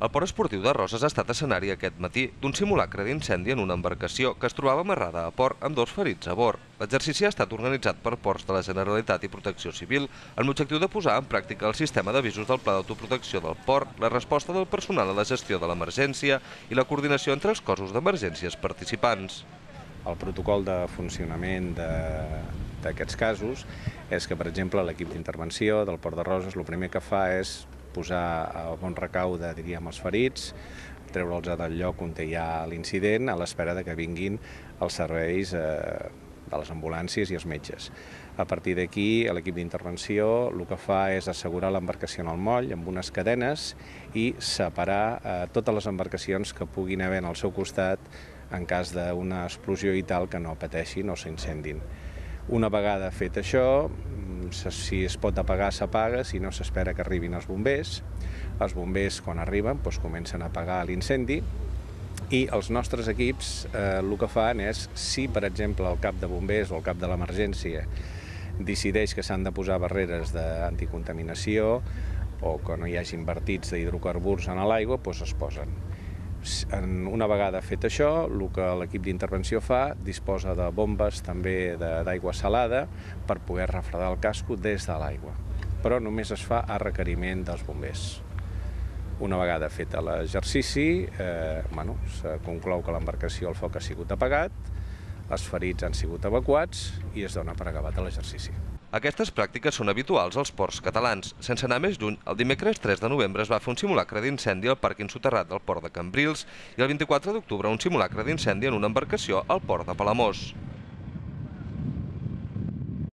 El port esportiu de Roses ha estat escenari aquest matí d'un simulacre d'incendi en una embarcació que es trobava amarrada a port amb 2 ferits a bord. L'exercici ha estat organitzat per Ports de la Generalitat i Protecció Civil amb l'objectiu de posar en pràctica el sistema d'avisos del Pla d'Autoprotecció del port, la resposta del personal a la gestió de l'emergència i la coordinació entre els cossos d'emergències participants. El protocol de funcionament d'aquests casos és que, per exemple, l'equip d'intervenció del Port de Roses el primer que fa és posar a bon recaude, diríem, els ferits, treure'ls del lloc on hi ha l'incident a l'espera que vinguin els serveis de les ambulàncies i els metges. A partir d'aquí, l'equip d'intervenció el que fa és assegurar l'embarcació en el moll amb unes cadenes i separar totes les embarcacions que puguin haver al seu costat en cas d'una explosió i tal que no pateixin o s'incendin. Una vegada fet això, si es pot apagar, s'apaga, si no s'espera que arribin els bombers. Els bombers, quan arriben, comencen a apagar l'incendi i els nostres equips el que fan és, si per exemple el cap de bombers o el cap de l'emergència decideix que s'han de posar barreres d'anticontaminació o que no hi hagin vertits d'hidrocarburs en l'aigua, doncs es posen. Una vegada fet això, el que l'equip d'intervenció fa, disposa de bombes també d'aigua salada per poder refredar el casco des de l'aigua, però només es fa a requeriment dels bombers. Una vegada fet l'exercici, se conclou que l'embarcació, el foc ha sigut apagat, els ferits han sigut evacuats i es dona per acabat l'exercici. Aquestes pràctiques són habituals als ports catalans. Sense anar més lluny, el dimecres 3 de novembre es va fer un simulacre d'incendi al pàrquing soterrat del port de Cambrils i el 24 d'octubre un simulacre d'incendi en una embarcació al port de Palamós.